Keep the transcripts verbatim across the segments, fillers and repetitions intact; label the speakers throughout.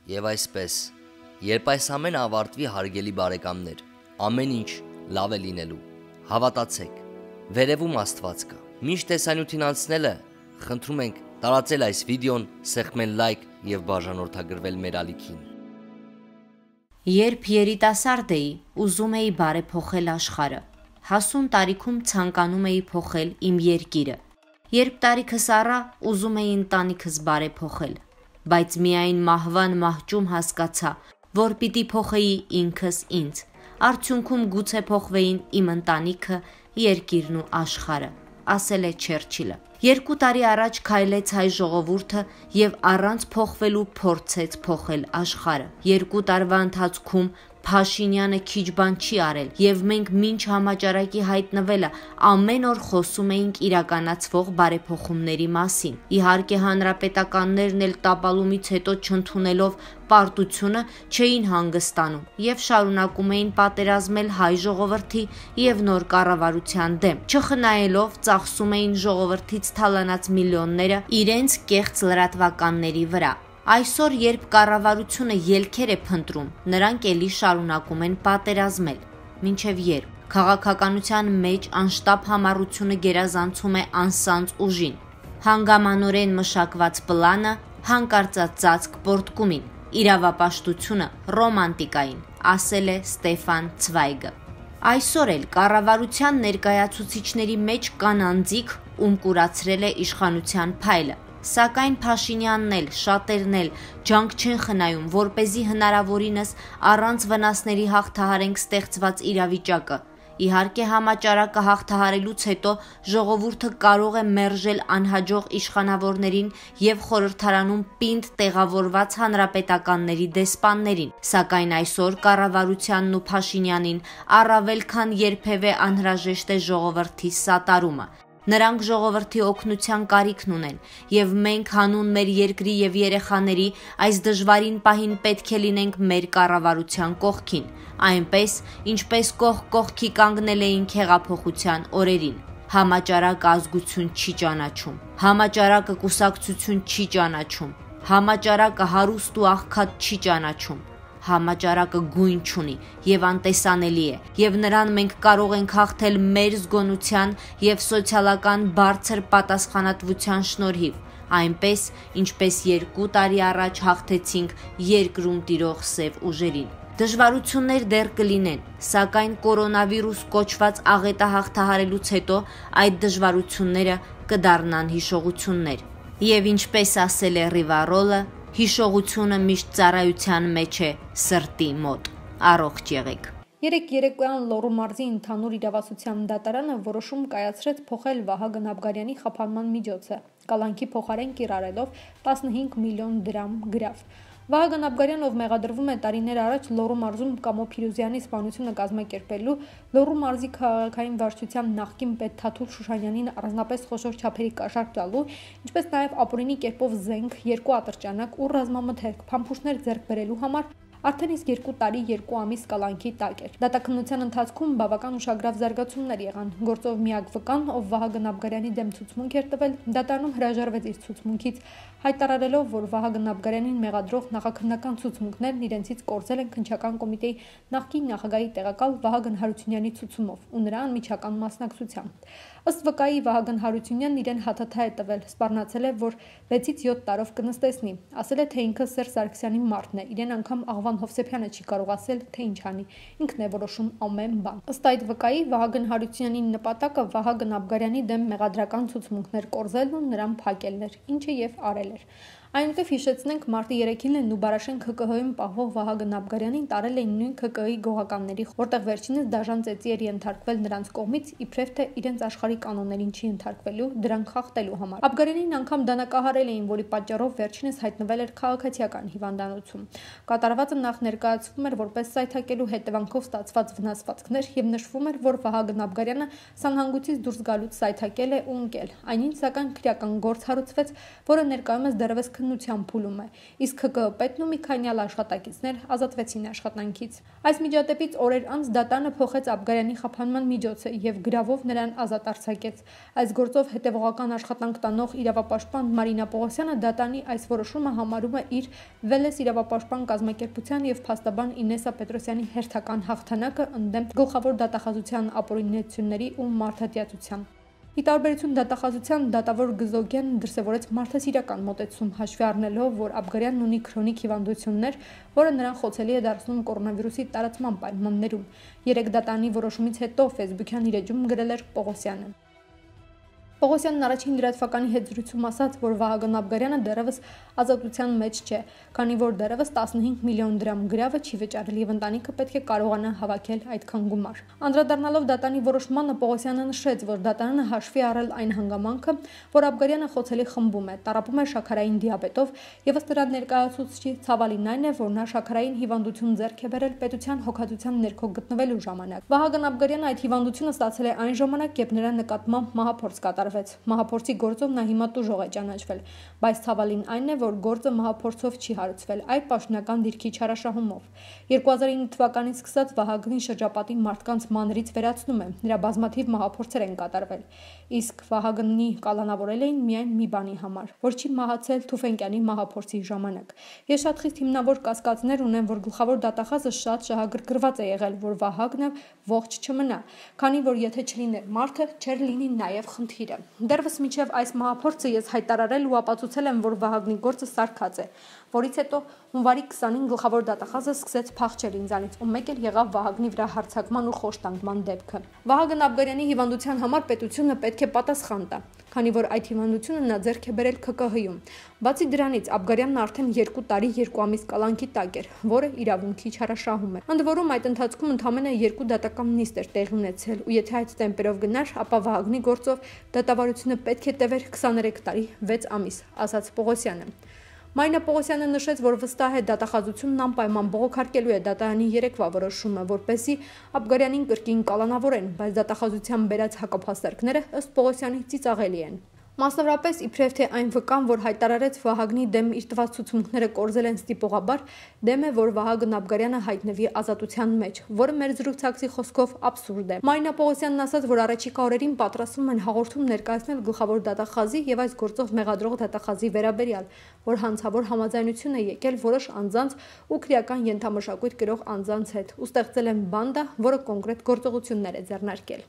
Speaker 1: Եվ այսպես, երբ այս ամենը ավարտվի, հարգելի բարեկամներ, ամեն ինչ լավ է լինելու։ Հավատացեք, վերևում Աստված կա։ Միշտ տեսանյութին անցնելը, խնդրում ենք տարածել այս վիդեոն, սեղմել լայք եւ բաժանորդագրվել մեր ալիքին։
Speaker 2: Երբ երիտասարդ էի, ուզում էի բարեփոխել աշխարհը։ Հասուն տարիքում ցանկանում էի փոխել իմ երկիրը։ Երբ տարիքս առա, ուզում էի ընտանիքս բարեփոխել, բայց միայն մահվան մահճում հասկացա, որ պիտի փոխեի ինքս ինձ։ Արդյունքում գուցե փոխվեին իմ ընտանիքը, երկիրն ու աշխարհը, ասել է Չերչիլը։ Երկու տարի առաջ քայլեց հայ ժողովուրդը եւ առանց փոխվելու փորձեց փոխել աշխարհը։ Երկու տարվա ընթացքում Փաշինյանը քիչ բան չի արել եւ մենք մինչ համաճարակի հայտնվելը ամեն օր խոսում էինք իրականացվող բարեփոխումների մասին։ Իհարկե հանրապետականներն էլ տապալումից հետո չընդունելով պարտությունը չէին հանգստանում եւ շարունակում էին պատերազմել հայ ժողովրդի եւ նոր կառավարության դեմ, չխնայելով ծախսում էին ժողովրդից թալանած միլիոնները իրենց կեղծ լրատվականների վրա։ Այսօր, երբ կառավարությունը ելքեր է փնտրում, նրանք էլի շարունակում են պատերազմել։ Մինչև երբ քաղաքականության մեջ անշտապ համառությունը գերազանցում է անսանձ ուժին, հանգամանորեն մշակված պլանը հանկարծած ծածկ պորտկումին, իրավապաշտությունը ռոմանտիկային, ասել է Ստեֆան Ցվայգը։ Այսօր էլ կառավարության ներկայացուցիչների մեջ կան անձիկ, ում կուրացրել է իշխանության փայլը։ Սակայն Փաշինյանն էլ, շատերն էլ ջանք չեն խնայում, որպեսզի հնարավորինս առանց վնասների հաղթահարենք ստեղծված իրավիճակը։ Իհարկե համաճարակը հաղթահարելուց հետո ժողովուրդը կարող է մերժել անհաջող իշխանավորներին եւ խորհրդարանում պինդ տեղավորված հանրապետականների դեսպաններին, սակայն այսօր կառավարությանն ու Փաշինյանին առավել քան երբևէ անհրաժեշտ է ժողովրդի սատարումը։ Նրանք ժողովրդի օգնության կարիքն ունեն, եւ մենք հանուն մեր երկրի եւ երեխաների այս դժվարին պահին պետք է լինենք մեր կառավարության կողքին, այնպես, ինչպես կողք կողքի կանգնել էինք հեղափոխության օրերին։ Համաճարակը ազգություն չի ճանաչում, համաճարակը կուսակցություն չի ճանաչում, համաճարակը հարուստ ու աղքատ չի ճանաչում։ Համաճարակը գույն չունի եւ անտեսանելի է, եւ նրան մենք կարող ենք հաղթել մեր զգոնության եւ սոցիալական բարձր պատասխանատվության շնորհիվ, այնպես, ինչպես երկու տարի առաջ հաղթեցինք երկրում տիրող սև ուժերին։ Դժվարություններ դեռ կլինեն, սակայն կորոնավիրուս կոչված աղետը հաղթահարելուց հետո այդ դժվարությունները կդառնան հիշողություններ։ Եվ ինչպես ասել է Ռիվարոլը, հիշողությունը միշտ ծառայության մեջ է սրտի մոտ։ Առողջ եղեք։
Speaker 3: Երեք երեկոյան Լոռու մարզի ընդհանուր իրավասության դատարանը որոշում կայացրեց փոխել Վահագն Աբգարյանի խափանման միջոցը, կալանքի փոխարեն կիրառելով տասնհինգ միլիոն դրամ գրավ։ Վահագն Աբգարյանը, ով մեղադրվում է տարիներ առաջ Լոռու մարզում Կամո Փիրուզյանի սպանությունը կազմակերպելու, Լոռու մարզի քաղաքային վարչության նախկին պետ Թաթուլ Շուշանյանին առանձնապես խոշոր չափերի կաշառք տալու, ինչպես նաև ապօրինի կերպով զենք, երկու ատրճանակ ու ռազմամթերք, փամփուշտներ ձեռք բերելու համար արդեն իսկ երկու տարի երկու ամիս կալանքի տակ էր։ Դատաքննության ընթացքում բավական ուշագրավ զարգացումներ եղան։ Գործով միակ վկան, ով Վահագն Աբգարյանի դեմ ցուցմունք էր տվել, դատարանում հրաժարվեց իր ցուցմունքից, հայտարարելով, որ Վահագն Աբգարյանին մեղադրող նախաքննական ցուցմունքներն իրենցից կորցել են քննչական կոմիտեի նախկին նախագահի տեղակալ Վահագն Հարությունյանի ցուցումով ու նրա անմիջական մասնակցությամբ։ Ըստ վկայի Վահագն Հարությունյանն իրեն հաթաթա է տվել, սպառնացել է, որ վեցից յոթ տարով կնստեցնի, ասել է, թե ինքը Սերժ Սարգսյանի մարդն է, իրեն անգամ Աղվան Հովսեփյանը չի կարող ասել, թե ինչ անի, ինքն է որոշում ամեն բան։ Ըստ այդ վկայի Վահագն Հարությունյանի նպատակը Վահագն Աբգարյանի դեմ մեղադրական ցուցմունքներ կորզելն ու նրան փակելն էր, ինչը եւ արել էր։ Այնուհետև հիշեցնենք մարտի երեքին են Նուբարաշեն ՔԿՀ-ում պահվող Վահագն Աբգարյանին տարել էին նույն ՔԿՀ-ի գողականների, որտեղ վերջինս դաժան ծեծի էր ենթարկվել նրանց կողմից, իբրև թե իրենց աշխարհի կանոններին չի ենթարկվելու, դրանք խախտելու համար։ Աբգարյանին անգամ դանակահարել էին, որի պատճառով վերջինս հայտնվել էր քաղաքացիական հիվանդանոցում։ Կատարվածը նախ ներկայացվում էր որպես սայթակելու հետևանքով ստացված վնասվածքներ եւ նշվում էր, որ Վահագն Աբգարյանը սանհանգույցից դուրս գալուց սայթակել է ու ընկել։ Այնին սակայն քրեական գործ հարուցվեց, որը ներկայումս դեռևս քննության փուլում է, իսկ ՀԿԸ պետն ու մի քանյալ աշխատակիցներ ազատվեցին աշխատանքից։ Այս միջադեպից օրեր անց դատարանը փոխեց Աբգարյանի խափանման միջոցը եւ գրավով նրան ազատ արձակեց։ Այս գործով հետևողական աշխատանք տանող իրավապաշտպան Մարինա Պողոսյանը դատարանի այս որոշումը համարում է իր Վելես իրավապաշտպան կազմակերպության եւ փաստաբան Ինեսա Պետրոսյանի հերթական հաղթանակը ընդդեմ գլխավոր դատախազության ապօրինությունների ու մարդատյացության։ Ի տարբերություն դատախազության դատավոր Գզոգյանն դրսևորեց մարդասիրական մոտեցում, հաշվի առնելով, որ Աբգարյանն ունի քրոնիկ հիվանդություններ, որը նրան խոցելի է դարձնում կորոնավիրուսի տարածման պայմաններում։ Երեք դատարանի որոշումից հետո Facebook-յան իր էջում գրել էր Պողոսյանը։ Պողոսյանն առաջին լրատվականի հետ զրույցում ասաց, որ Վահագն Աբգարյանը դեռևս ազատության մեջ չէ, քանի որ դեռևս տասնհինգ միլիոն դրամ գրավը չի վճարել եւ ընտանիքը պետք է կարողանա հավաքել այդքան գումար։ Անդրադառնալով դատարանի որոշմանը Պողոսյանը նշեց, որ դատարանը հաշվի առել այն հանգամանքը, որ Աբգարյանը խոցելի խմբում է, տառապում է շաքարային դիաբետով եւ ըստ նրա ներկայացուցչի ցավալին այն է, որ նա շաքարային հիվանդություն ձեռք է բերել պետության հոգատության ներքո գտնվելու ժամանակ։ Վահագն Աբգարյանը այդ հիվանդությունը ստացել է այն ժամանակ, երբ նրա նկատմամբ մահափորձ կատարվեց։ Մահափորձի գործով նա հիմա տուժող է ճանաչվել, բայց ցավալին այն է, որ գործը մահափորձով չի հարուցվել, այլ պաշտոնական դիրքի չարաշահումով։ երկու հազար ինը թվականից սկսած Վահագնի շրջապատի մարդկանց մանրից վերացնում է, նրա բազմաթիվ մահափորձեր են կատարվել, իսկ Վահագնի կալանավորել էին միայն մի բանի համար, որ չի մահացել Թուֆենկյանի մահափորձի ժամանակ։ Ես շատ խիստ հիմնավոր կասկածներ ունեմ, որ գլխավոր դատախազը շատ շահագրգռված է եղել, որ Վահագնը ողջ չմնա, քանի որ եթե չլիներ մարդը, չէր լինի նաև խնդիրը։ Դեռևս մինչև այս մահափորձը ես հայտարարել ու ապացուցել եմ, որ Վահագնի գործը սարքած է, որից հետո հունվարի քսանին գլխավոր դատախազը սկսեց փախչել ինձանից ու մեկ էլ եղավ Վահագնի վրա հարձակման ու խոշտանգման դեպքը։ Վահագն Աբգարյանի հիվանդության համար պետությունը պետք է պատասխան տա, քանի որ այդ հիվանդությունը նա ձեռք է բերել ՔԿՀ-ում։ Բացի դրանից Աբգարյանն արդեն երկու տարի երկու ամիս կալանքի տակ էր, որը իրավունքի չարաշահում է։ Ընդ որում այդ ընթացքում ընդամենը երկու դատական նիստ էր տեղի ունեցել, ու եթե այդ տեմպերով գնար, ապա Վահագնի գործով դատավարությունը պետք է տևեր քսաներեք տարի վեց ամիս, ասաց Պողոսյանը։ Մարինա Պողոսյանը նշեց, որ վստահ է դատախազությունն անպայման բողոքարկելու է դատարանի երեկվա որոշումը, որպեսզի Աբգարյանին կրկին կալանավորեն, բայց դատախազության բերած հակափաստարկները ըստ Պողոսյանի ծիծաղելի են։ Մասնավորապես իբրև թե այն վկան, որ հայտարարեց Վահագնի դեմ իր տված ցուցմունքները կորզել են ստիպողաբար, դեմ է, որ Վահագն Աբգարյանը հայտնվի ազատության մեջ, որը մեր զրուցակցի խոսքով աբսուրդ է։ Մարինա Պողոսյանն ասաց, որ առաջիկա օրերին պատրաստվում են հաղորդում ներկայացնել գլխավոր դատախազի եւ այս գործով մեղադրող դատախազի վերաբերյալ, որ հանցավոր համաձայնություն է եկել որոշ անձանց ու քրեական ենթամշակույթ կրող անձանց հետ ու ստեղծել են բանդա, որը կոնկրետ գործողություններ է ձեռնարկել։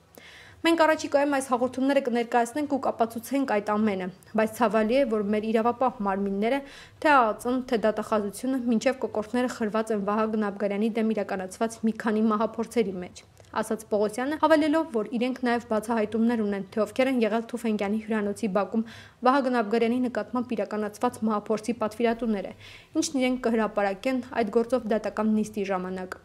Speaker 3: Մենք առաջիկայում այս հաղորդումները կներկայացնենք ու կապացուցենք այդ ամենը, բայց ցավալի է, որ մեր իրավապահ մարմինները, թե ԱԱԾ-ն, թե դատախազությունը մինչև կոկորդները խրված են Վահագն Աբգարյանի դեմ իրականացված մի քանի մահափորձերի մեջ, ասաց Պողոսյանը, հավելելով, որ իրենք նաև բացահայտումներ ունեն, թե ովքեր են եղել Թուֆենկյանի հյուրանոցի բակում Վահագն Աբգարյանի նկատմամբ իրականացված մահափորձի պատվիրատուները, ինչն իրենք կհրապարակեն այդ գործով դատական նիստի ժամանակ։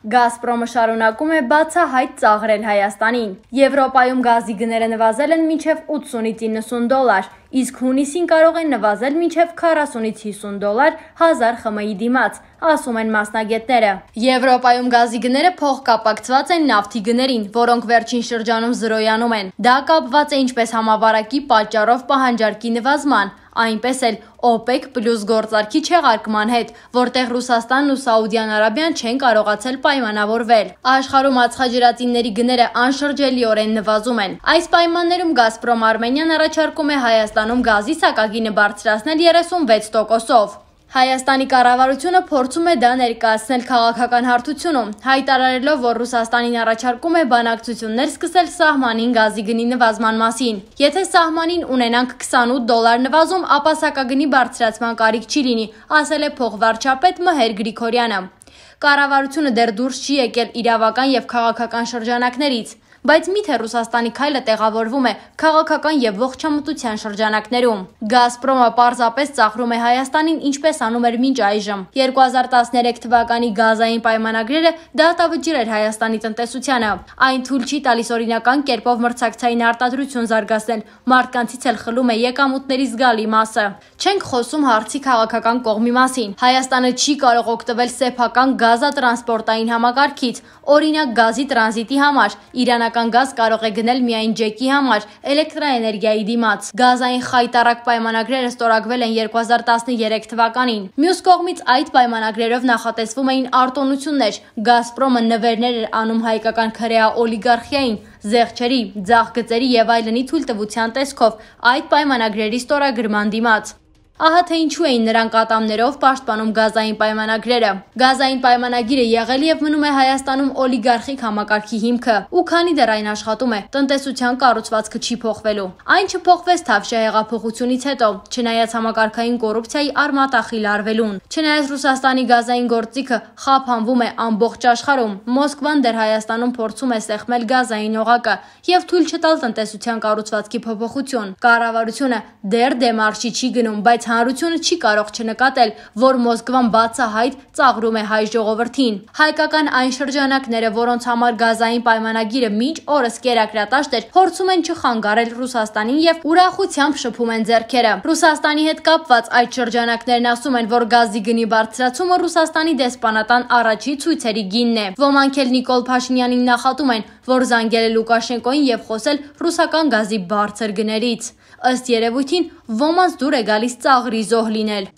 Speaker 4: Գազպրոմը շարունակում է բացահայտ ծաղրել Հայաստանին։ Եվրոպայում գազի գները նվազել են մինչև ութսունից իննսուն դոլար, իսկ հունիսին կարող են նվազել մինչև քառասունից հիսուն դոլար հազար խմի դիմաց, ասում են մասնագետները։ Եվրոպայում գազի գները փոխկապակցված են նավթի գներին, որոնք վերջին շրջանում զրոյանում են։ Դա կապված է ինչպես համավարակի պատճառով պահանջարկի նվազման, այնպես էլ օպեկ պլյուս գործարքի չեղարկման հետ, որտեղ Ռուսաստանն ու Սաուդյան Արաբիան չեն կարողացել պայմանավորվել։ Աշխարհում ածխաջրածինների գները անշրջելիորեն նվազում են։ Այս պայմաններում Գազպրոմ Արմենիան առաջարկում է Հայաստանում գազի սակագինը բարձրացնել երեսունվեց տոկոսով։ Հայաստանի կառավարությունը փորձում է դա ներկայացնել քաղաքական հարթությունում, հայտարարելով, որ Ռուսաստանին առաջարկում է բանակցություններ սկսել սահմանին գազի գնի նվազման մասին։ Եթե սահմանին ունենանք քսանութ դոլար նվազում, ապա սակագնի բարձրացման կարիք չի լինի, ասել է փոխվարչապետ Մհեր Գրիգորյանը։ Կառավարությունը դեռ դուրս չի եկել իրավական եւ քաղաքական շրջանակներից, բայց միթե Ռուսաստանի քայլը տեղավորվում է քաղաքական եւ ողջամտության շրջանակներում։ Գազպրոմը պարզապես ծաղրում է Հայաստանին, ինչպես անում էր մինչ այժմ։ երկու հազար տասներեք թվականի գազային պայմանագրերը դատավճիռ էր Հայաստանի տնտեսությանը։ Այն թույլ չի տալիս օրինական կերպով մրցակցային արտադրություն զարգացնել, մարդկանցից էլ խլում է եկամուտների զգալի մասը։ Չենք խոսում հարցի քաղաքական կողմի մասին։ Հայաստանը չի կարող օգտվել սեփական գազատրանսպորտային համակարգից, օրինակ գազի տրանզիտի համար, իրանական ռուսական գազ կարող է գնել միայն ջեկի համար էլեկտրաէներգիայի դիմաց։ Գազային խայտառակ պայմանագրերը ստորագրվել են երկու հազար տասներեք թվականին։ Մյուս կողմից այդ պայմանագրերով նախատեսվում էին արտոնություններ։ Գազպրոմը նվերներ էր անում հայկական քրեա օլիգարխիային, զեղչերի, ձախ գծերի եւ այլնի թույլտվության տեսքով այդ պայմանագրերի ստորագրման դիմաց։ Ահա թե ինչու էին նրանք ատամներով պաշտպանում գազային պայմանագրերը։ Գազային պայմանագիրը եղել եւ մնում է Հայաստանում օլիգարխիկ համակարգի հիմքը, ու քանի դեռ այն աշխատում է, տնտեսության կառուցվածքը չի փոխվելու։ Այն չփոխվեց Թավշյա հեղափոխությունից հետո, չնայած համակարգային կոռուպցիայի արմատախիլ արվելուն, չնայած Ռուսաստանի գազային գործիքը խափանվում է ամբողջ աշխարհում, Մոսկվան դեռ Հայաստանում փորձում է սեղմել գազային օղակը եւ թույլ չտալ տնտեսության կառուցվածքի փոփոխություն։ Կառավարությունը դեռ դեմարշի չի գնում, բայց հանրությունը չի կարող չնկատել, որ Մոսկվան բացահայտ ծաղրում է հայ ժողովրդին։ Հայկական այն շրջանակները, որոնց համար գազային պայմանագիրը մինչ օրս կերակրատաշտ էր, փորձում են չխանգարել Ռուսաստանին եւ ուրախությամբ շփում են ձեռքերը։ Ռուսաստանի հետ կապված այդ շրջանակներն ասում են, որ գազի գնի բարձրացումը Ռուսաստանի դեսպանատան առաջի ցույցերի գինն է։ Ոմանք էլ Նիկոլ Փաշինյանին նախատում են, որ զանգել է Լուկաշենկոին եւ խոսել ռուսական գազի բարձր գներից։ Ըստ երևույթին, ոմանց դուր է գալիս ծաղրի զոհ լինել։